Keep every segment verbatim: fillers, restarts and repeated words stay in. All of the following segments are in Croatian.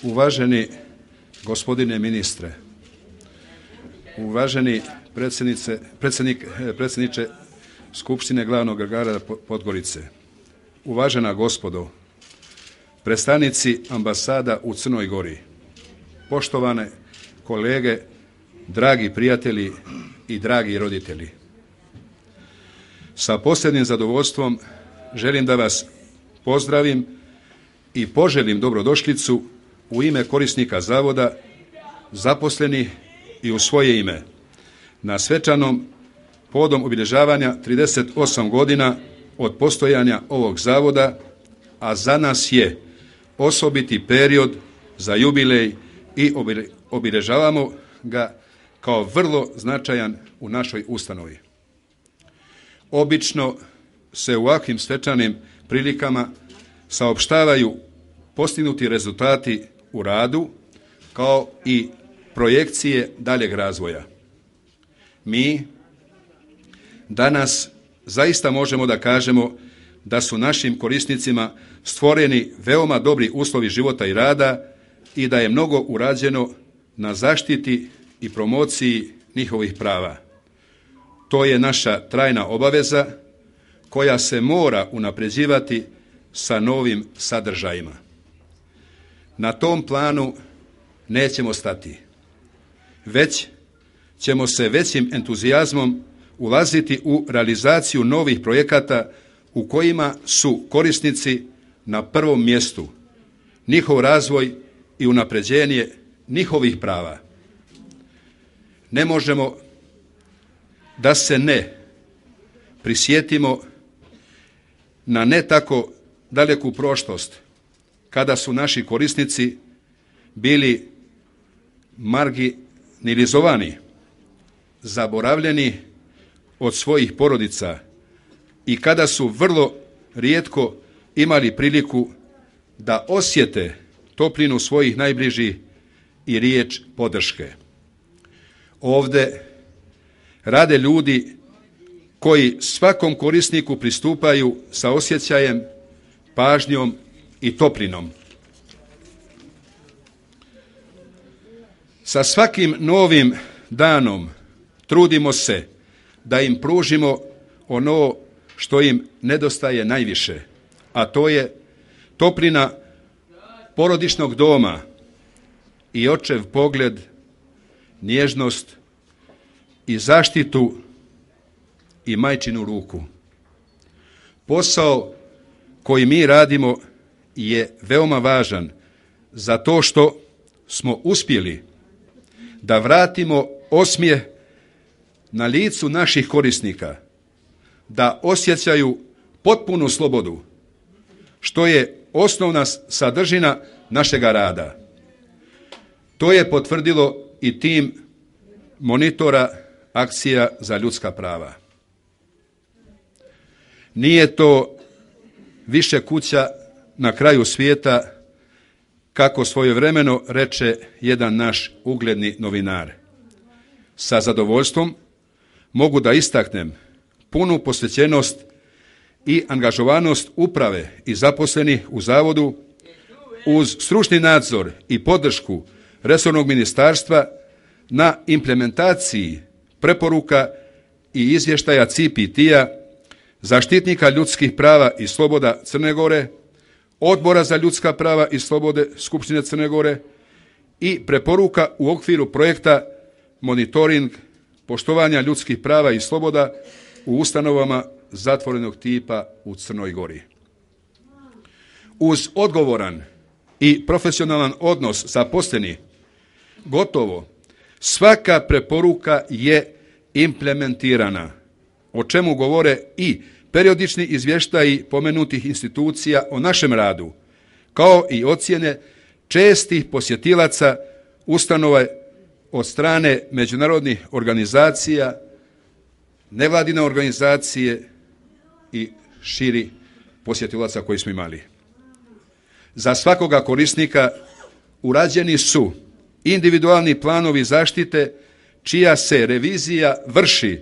Uvaženi gospodine ministre, uvaženi predsjednik, predsjedniče Skupštine glavnog grada Podgorice, uvažena gospodo, predstavnici ambasada u Crnoj Gori, poštovane kolege, dragi prijatelji i dragi roditelji. Sa posebnim zadovoljstvom želim da vas pozdravim i poželim dobrodošlicu u ime korisnika zavoda, zaposlenih i u svoje ime na svečanom povodom obilježavanja trideset osam godina od postojanja ovog zavoda, a za nas je osobiti period za jubilej i obilježavamo ga kao vrlo značajan u našoj ustanovi. Obično se u ovakvim svečanim prilikama saopštavaju postignuti rezultati u radu kao i projekcije daljeg razvoja. Mi danas zaista možemo da kažemo da su našim korisnicima stvoreni veoma dobri uslovi života i rada i da je mnogo urađeno na zaštiti i promociji njihovih prava. To je naša trajna obaveza koja se mora unapređivati sa novim sadržajima. Na tom planu nećemo stati, već ćemo se većim entuzijazmom ulaziti u realizaciju novih projekata u kojima su korisnici na prvom mjestu, njihov razvoj i unapređenje njihovih prava. Ne možemo da se ne prisjetimo na ne tako daleku prošlost kada su naši korisnici bili marginalizovani, zaboravljeni od svojih porodica i kada su vrlo rijetko imali priliku da osjete toplinu svojih najbližih i riječ podrške. Ovde rade ljudi koji svakom korisniku pristupaju sa osjećajem, pažnjom i toplinom. Sa svakim novim danom trudimo se da im pružimo ono što im nedostaje najviše, a to je toplina porodičnog doma i očev pogled, nježnost i zaštitu i majčinu ruku. Posao koji mi radimo je veoma važan zato što smo uspjeli da vratimo osmijeh na licu naših korisnika, da osjećaju potpunu slobodu, što je osnovna sadržina našega rada. To je potvrdilo i tim monitora akcija za ljudska prava. Nije to više kuća na kraju svijeta, kako svojevremeno reče jedan naš ugledni novinar. Sa zadovoljstvom mogu da istaknem punu posvećenost i angažovanost uprave i zaposlenih u zavodu uz stručni nadzor i podršku resornog ministarstva na implementaciji preporuka i izvještaja C P T-a, zaštitnika ljudskih prava i sloboda Crne Gore, Odbora za ljudska prava i slobode Skupštine Crne Gore i preporuka u okviru projekta monitoring poštovanja ljudskih prava i sloboda u ustanovama zatvorenog tipa u Crnoj Gori. Uz odgovoran i profesionalan odnos zaposlenih, gotovo svaka preporuka je implementirana, o čemu govore i periodični izvještaji pomenutih institucija o našem radu, kao i ocjene čestih posjetilaca ustanova od strane međunarodnih organizacija, nevladine organizacije i širi posjetilaca koji smo imali. Za svakoga korisnika urađeni su individualni planovi zaštite čija se revizija vrši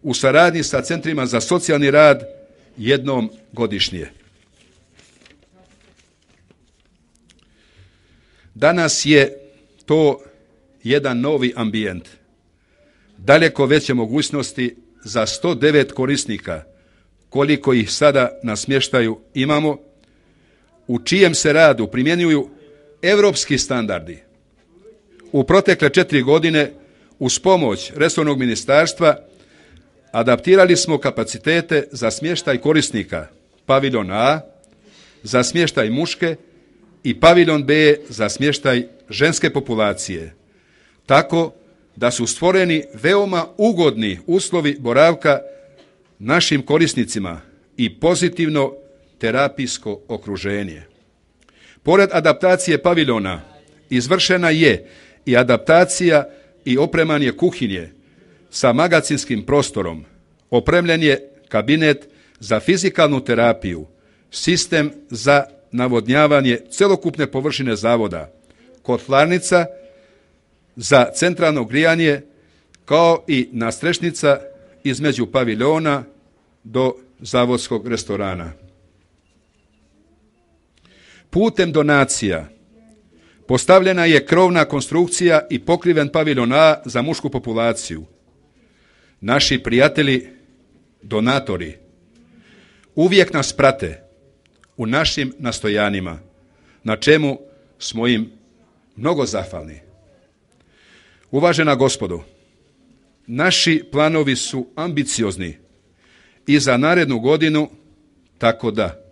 u saradnji sa centrima za socijalni rad jednom godišnje. Danas je to jedan novi ambijent, daleko veće mogućnosti za sto devet korisnika, koliko ih sada na smještaju imamo, u čijem se radu primjenjuju europski standardi. U protekle četiri godine, uz pomoć resornog ministarstva, adaptirali smo kapacitete za smještaj korisnika paviljon A, za smještaj muške i paviljon B za smještaj ženske populacije, tako da su stvoreni veoma ugodni uslovi boravka našim korisnicima i pozitivno terapijsko okruženje. Pored adaptacije paviljona izvršena je i adaptacija i opremanje kuhinje sa magacinskim prostorom, opremljen je kabinet za fizikalnu terapiju, sistem za navodnjavanje celokupne površine zavoda, kotlarnica za centralno grijanje, kao i nadstrešnica između paviljona do zavodskog restorana. Putem donacija postavljena je krovna konstrukcija i pokriven paviljon A za mušku populaciju. Naši prijatelji, donatori, uvijek nas prate u našim nastojanjima, na čemu smo im mnogo zahvalni. Uvažena gospodo, naši planovi su ambiciozni i za narednu godinu, tako da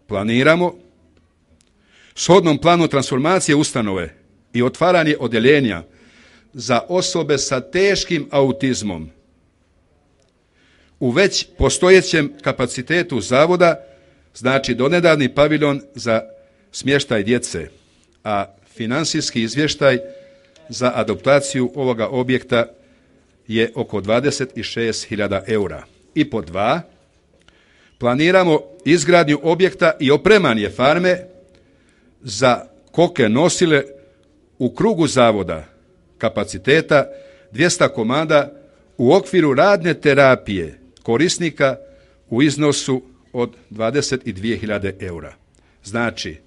planiramo shodnom planu transformacije ustanove i otvaranje odjeljenja za osobe sa teškim autizmom u već postojećem kapacitetu zavoda, znači donedavni paviljon za smještaj djece, a financijski izvještaj za adaptaciju ovoga objekta je oko dvadeset šest hiljada eura. I po dva, planiramo izgradnju objekta i opremanje farme za koke nosile u krugu zavoda kapaciteta dvjesto komada u okviru radne terapije korisnika u iznosu od dvadeset dvije hiljade eura. Znači,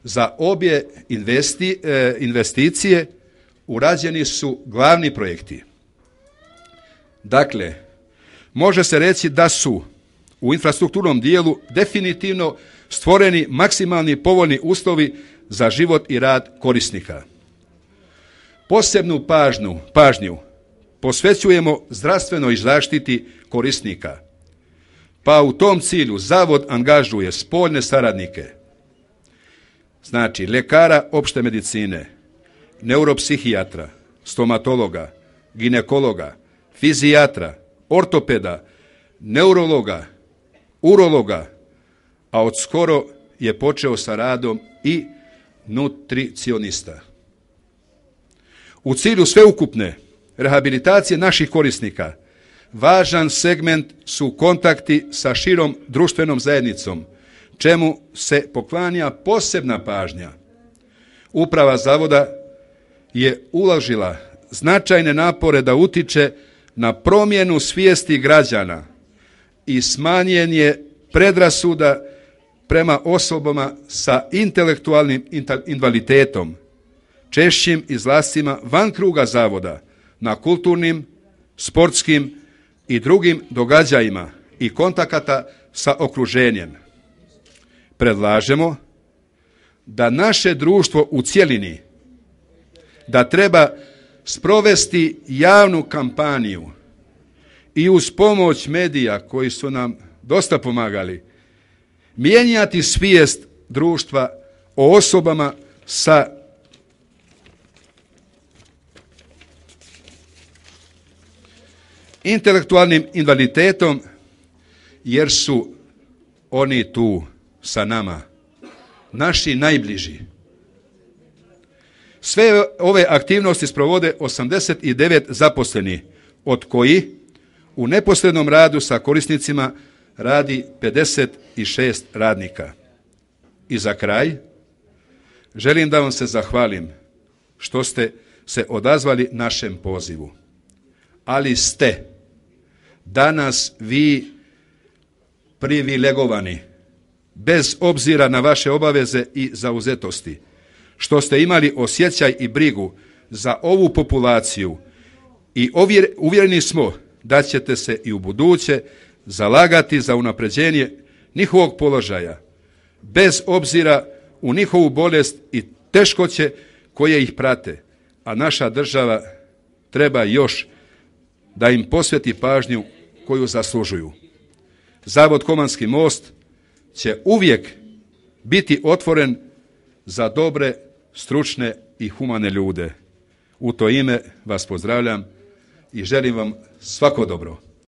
za obje investi, e, investicije urađeni su glavni projekti. Dakle, može se reći da su u infrastrukturnom dijelu definitivno stvoreni maksimalni povoljni uslovi za život i rad korisnika. Posebnu pažnju, pažnju posvećujemo zdravstvenoj zaštiti korisnika, pa u tom cilju zavod angažuje spoljne saradnike, znači ljekara opšte medicine, neuropsihijatra, stomatologa, ginekologa, fizijatra, ortopeda, neurologa, urologa, a od skoro je počeo sa radom i nutricionista. U cilju sveukupne rehabilitacije naših korisnika važan segment su kontakti sa širom društvenom zajednicom, čemu se poklanja posebna pažnja. Uprava zavoda je uložila značajne napore da utiče na promjenu svijesti građana i smanjen je predrasuda prema osobama sa intelektualnim invaliditetom, češćim izlascima van kruga zavoda na kulturnim, sportskim i drugim događajima i kontakata sa okruženjem. Predlažemo da naše društvo u cjelini da treba sprovesti javnu kampaniju i uz pomoć medija koji su nam dosta pomagali, mijenjati svijest društva o osobama sa intelektualnim invaliditetom, jer su oni tu sa nama, naši najbliži. Sve ove aktivnosti sprovode osamdeset devet zaposlenih, od koji u neposrednom radu sa korisnicima radi pedeset šest radnika. I za kraj, želim da vam se zahvalim što ste se odazvali našem pozivu. Ali ste danas vi privilegovani, bez obzira na vaše obaveze i zauzetosti, što ste imali osjećaj i brigu za ovu populaciju i uvjereni smo da ćete se i u buduće zalagati za unapređenje njihovog položaja, bez obzira u njihovu bolest i teškoće koje ih prate, a naša država treba još da im posveti pažnju koju zaslužuju. Zavod Komanski most će uvijek biti otvoren za dobre, stručne i humane ljude. U to ime vas pozdravljam i želim vam svako dobro.